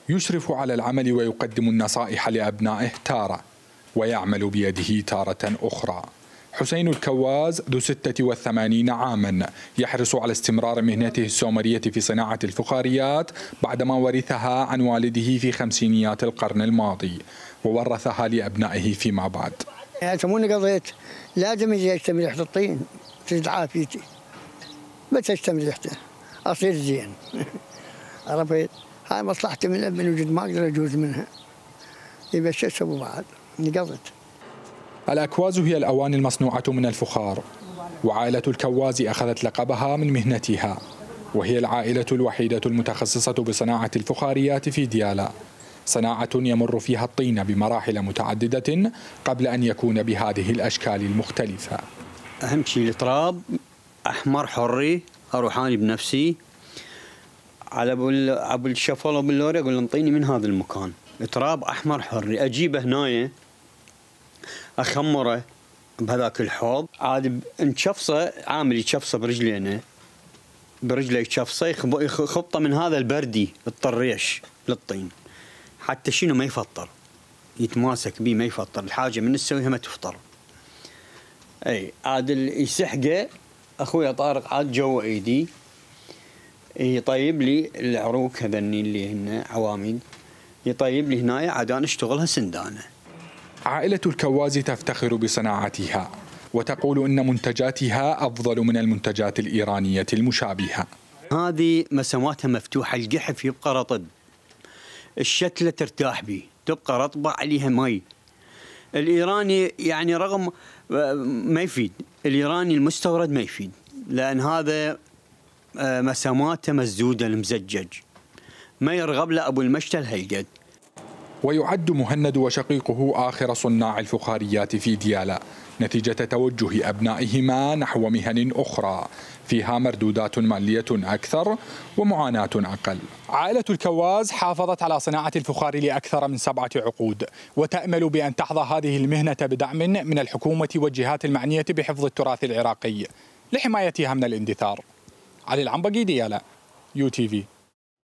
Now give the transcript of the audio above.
يشرف على العمل ويقدم النصائح لأبنائه تارة، ويعمل بيده تارة أخرى. حسين الكواز ذو 86 عاما يحرص على استمرار مهنته السومرية في صناعة الفخاريات بعدما ورثها عن والده في خمسينيات القرن الماضي، وورثها لأبنائه فيما بعد. يسموني قضيت لازم يجي اشتم ريحة الطين تزيد عافيتي، بس اشتم ريحته اصير زين. عرفت؟ هاي مصلحتي من وجود ما اقدر اجوز منها. يبقى شو اسوي بعد؟ قضيت. الأكواز هي الأواني المصنوعة من الفخار، وعائلة الكواز أخذت لقبها من مهنتها، وهي العائلة الوحيدة المتخصصة بصناعة الفخاريات في ديالا، صناعة يمر فيها الطين بمراحل متعددة قبل أن يكون بهذه الأشكال المختلفة. أهم شيء التراب أحمر حري، أروح أنا بنفسي على أبو الشفل وباللوري أقول انطيني من هذا المكان، تراب أحمر حري، أجيبه هنايا أخمره بهذاك الحوض، عاد نشفصه، عامل يشفصه برجلينه، برجله يشفصه، يخبطه من هذا البردي الطريش للطين حتى شنو ما يفطر، يتماسك بيه ما يفطر، الحاجه من تسويها ما تفطر. اي عاد يسحقه اخوي طارق عاد جوا ايدي، يطيب لي العروق هذني اللي هن عواميد، يطيب لي هنايا عاد انا اشتغلها سندانه. عائلة الكواز تفتخر بصناعتها، وتقول إن منتجاتها أفضل من المنتجات الإيرانية المشابهة. هذه مساماتها مفتوحة، القحف يبقى رطب، الشتلة ترتاح به، تبقى رطبة عليها مي. الإيراني يعني رغم ما يفيد، الإيراني المستورد ما يفيد، لأن هذا مساماته مسدودة المزجج، ما يرغب له أبو المشتل هالقد. ويعد مهند وشقيقه آخر صناع الفخاريات في ديالا نتيجة توجه أبنائهما نحو مهن أخرى فيها مردودات مالية أكثر ومعاناة أقل. عائلة الكواز حافظت على صناعة الفخار لأكثر من 7 عقود، وتأمل بأن تحظى هذه المهنة بدعم من الحكومة والجهات المعنية بحفظ التراث العراقي لحمايتها من الاندثار. علي العنبقي، ديالا، UTV.